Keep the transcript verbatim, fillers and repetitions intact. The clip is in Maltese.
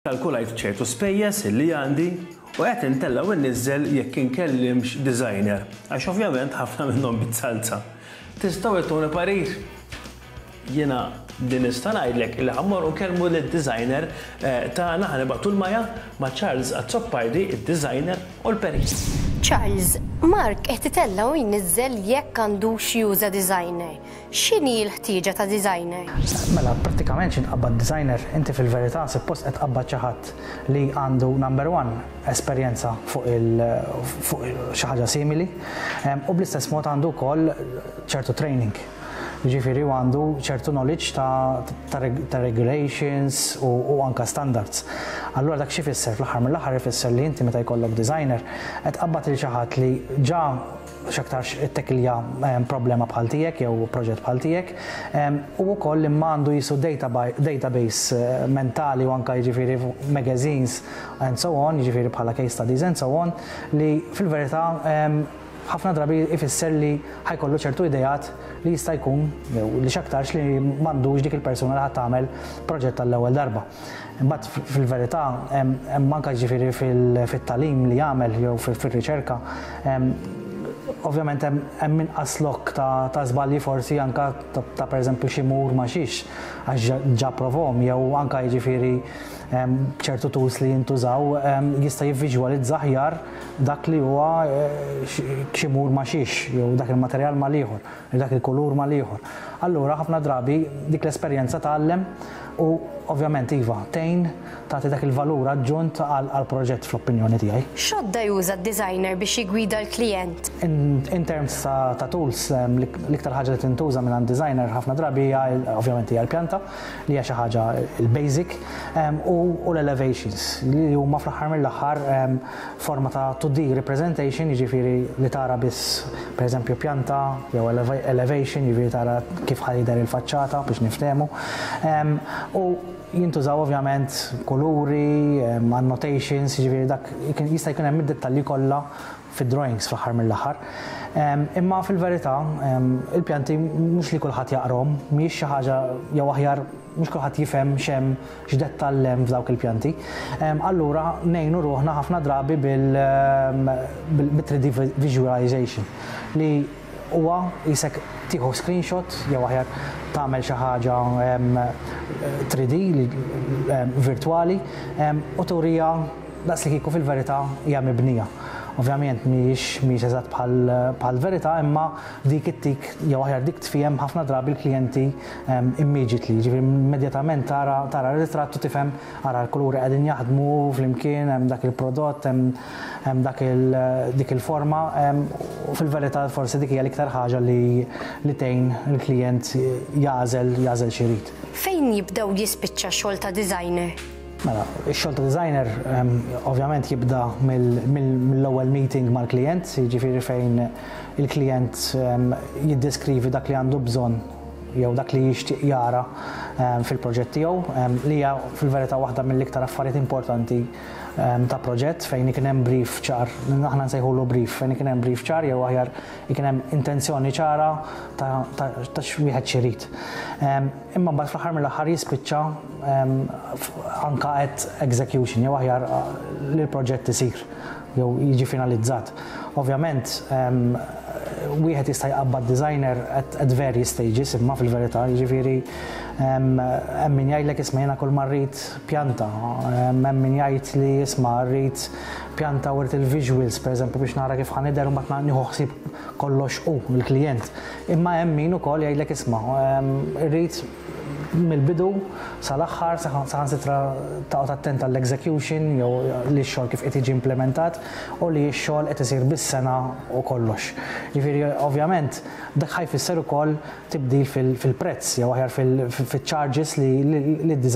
Kalkulajt ċertu spejjeż li għandi u qed intella' u nniżżel jekk inkellimx designer, għax ovvjament ħafna minnhom bit-salza. Tistgħu ittuni parir? Jiena din nista' ngħidlek li ħa mmorru nkellmu lid-designer eh, tagħna. Ħa nibagħtu lil Maja ma' Charles Azzopardi, id-designer u l-perit. Charles, Mark qed itella' u jniżżel jekk għandux juża designer. X'inhi l-ħtieġa ta' designer? Mela, prattikament x'ħin tqabbad designer, inti fil-verità suppost qed tqabbad xi ħadd li għandu, number one, esperjenza fuq il fuq xi ħaġa simili u bl-istess mod għandu wkoll ċertu training. Ġifieri u għandu ċertu knowledge ta', ta, ta regulations u, u anka standards. Allura dak xi fisser fl-aħħar mill-aħħar? Ifisser li inti meta jkollok designer qed tqabbad lil xi ħadd li ġa x'aktarx ittekilja problema bħal tiegħek jew proġett bħal tiegħek u wkoll imma għandu jisu database eh, mentali u anka jiġifieri magazines and so on, jiġifieri bħala case studies and so on, li fil-verità ħafna drabi ifisser li ħa jkollu ċertu idejat li jista' jkun jew li x'aktarx li m'għandux dik il-persuna li ħadd tagħmel proġett tal-ewwel darba. Imbagħad fil-verità hemm anke ġifieri fit-tagħlim li jagħmel jew fir-riċerka, ovvjament hemm inqas lok ta' ta' żbalji, forsi anka ta', ta pereżempju xi mur ma xiex, għax ġa provahom, jew anka jiġifieri ċertu tools li jintużaw jista' jivviżwalizza aħjar dak li huwa eh, xi mur ma xiex jew dak il-materjal ma ieħor, dak il-kulur ma ieħor. Allura ħafna drabi dik l-esperjenza tgħallem u ovvjament iva, tgħin tagħti dak il-valur aġġunt għal proġett fl-opinjoni tiegħi. X'għodda juża d-designer biex jigwida l-klient? In, in terms ta', ta tools, l-iktar ħaġa li tintuża minn designer ħafna drabi hija ovvjament hija l-pjanta, li hija xi ħaġa il-basic, u, u l-elevations, li huma fl-aħħar mill-aħħar forma ta' two D representation, jiġifieri li tara biss pereżempju pjanta jew elevation, jiġifieri tara kif ħa jidher il-faċċata biex niftehmu. U jintużaw ovvjament kuluri, annotations, jiġifieri dak jista' jkun hemm id-dettalji kollha fid-drawings fl-aħħar mill-aħħar. Imma fil-verità il-pjanti mhux li kulħadd jaqrahom, mhijiex xi ħaġa, jew aħjar mhux kulħadd jifhem x'hemm, x'dettall hemm f'dawk il-pjanti. Allura ngħinu ruħna ħafna drabi bil-three D visualization, li huwa jisek tieħu screenshot jew aħjar tagħmel xi ħaġa three D virtuali u turija daqs li kieku fil-verità hija mibnija. Ovvjament mhijiex mhijiex eżatt bħal verità, imma dik it-tik jew aħjar dik tfiehem ħafna drabi l-klijenti immediately, ġifieri immedjatament tara tara r-ritratt u tifhem, ara l-kuluri qegħdin jaħdmu flimkien, hemm dak il-prodott, hemm dak il dik il-forma, u fil-verità forsi dik hija l-iktar ħaġa li li tgħin il-klijent jagħżel jagħżel x'irid. Fejn jibda u jispiċċa xogħol ta' designer? Mela, ix-xogħol ta' designer ovvjament jibda mill-ewwel meeting mal-klient, jiġifieri fejn il-klient jiddeskrivi dak li għandu bżonn jew dak li jixtieq jara fil-proġett tiegħu, li hija fil-verità waħda mill-iktar affarijiet importanti ta' proġett, fejn ikun hemm brief ċar, aħna nsejħulu brief, fejn ikun hemm brief ċar jew aħjar ikun hemm intenzjoni ċara ta' ta' x'wieħed x'irid. Imma mbagħad fl-aħħar mill-aħħar jispiċċa anka at execution jew aħjar li l-proġett isir jew jiġi finalizzat. Ovvjament, wieħed jista' jqabbad designer at, at various stages, imma fil-verità, jiġifieri hemm min jgħidlek, "Isma', jiena kull ma rrid pjanta", hemm min jgħid li, "Isma', rrid pjanta u rrid il-visuals pereżempju biex nara kif ħa nidher u mbagħad nieħu ħsieb kollox hu il-klijent." Imma hemm min ukoll jgħidlek, "Isma', rrid mill-bidu sal-aħħar, saħansitra taqgħod attent għall-execution jew li x-xogħol kif qed jiġi implementat u li x-xogħol qed isir bis-sengħa u kollox." Jiġifieri ovvjament dak ħa jfisser ukoll tibdil fil-prezz jew aħjar fil-charges li d-design